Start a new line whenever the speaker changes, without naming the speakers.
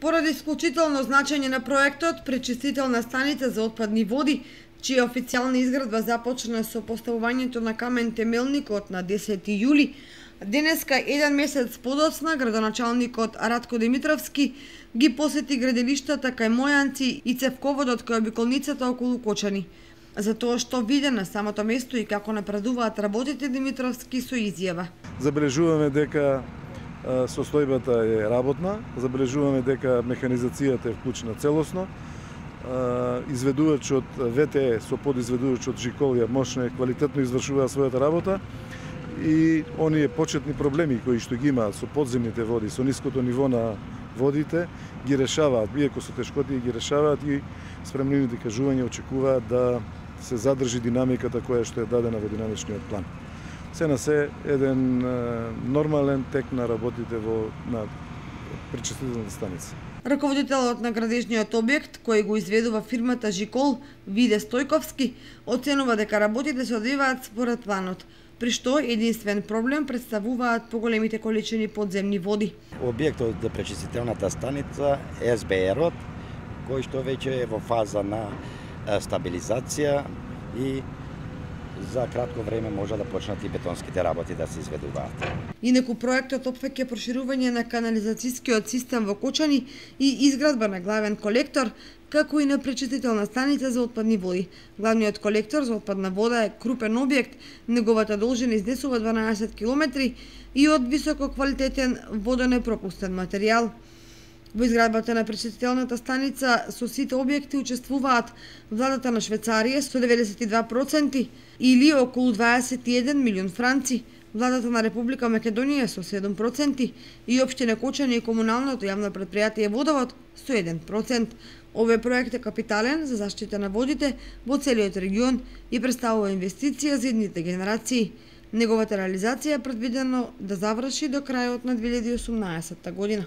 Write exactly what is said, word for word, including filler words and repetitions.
Поради исклучително значење на проектот, пречистителна станица за отпадни води, чија официјална изградба започна со поставувањето на камен темелникот на десети јули, денеска, еден месец подоцна, градоначалникот Радко Димитровски ги посети градилиштата кај Мојанци и цевководот кај обиколницата околу Кочани. За тоа што виде на самото место и како напредуваат работите, Димитровски со изјава.
Забележуваме дека состојбата е работна, забележуваме дека механизацијата е вклучена целосно, изведувачот ВТЕ со подизведувачот Жиколија мощно и квалитетно извршува својата работа и оние почетни проблеми кои што ги има со подземните води, со ниското ниво на водите, ги решаваат, иако со тешкотии ги решаваат и спремнените кажувања очекуваат да се задржи динамиката која што е дадена во динамичниот план. Се на се еден нормален тек на работите во на пречистителната станица.
Раководителот на градежниот објект, кој го изведува фирмата Жикол, Виде Стојковски, оценува дека работите се одвиваат според планот, при што единствен проблем представуваат поголемите количини подземни води.
Објектот за пречистителната станица е Ес Бе Ерот, кој што веќе е во фаза на стабилизација и за кратко време може да почнат и бетонските работи да се изведуваат.
Инаку проектот опфаќа проширување на канализацијскиот систем во Кочани и изградба на главен колектор, како и на пречистителна станица за отпадни води. Главниот колектор за отпадна вода е крупен објект, неговата должина изнесува дванаесет километри и од висококвалитетен водонепропустен материјал. Во изградбата на пречистителната станица со сите објекти учествуваат владата на Швајцарија со деветдесет и два проценти или околу дваесет и еден милион франци, владата на Република Македонија со седум проценти и општина Кочани и комуналното јавно претпријатие Водовод со еден процент. Овој проект е капитален за заштита на водите во целиот регион и представува инвестиција за идните генерации. Неговата реализација е предвидено да заврши до крајот на две илјади и осумнаесетта година.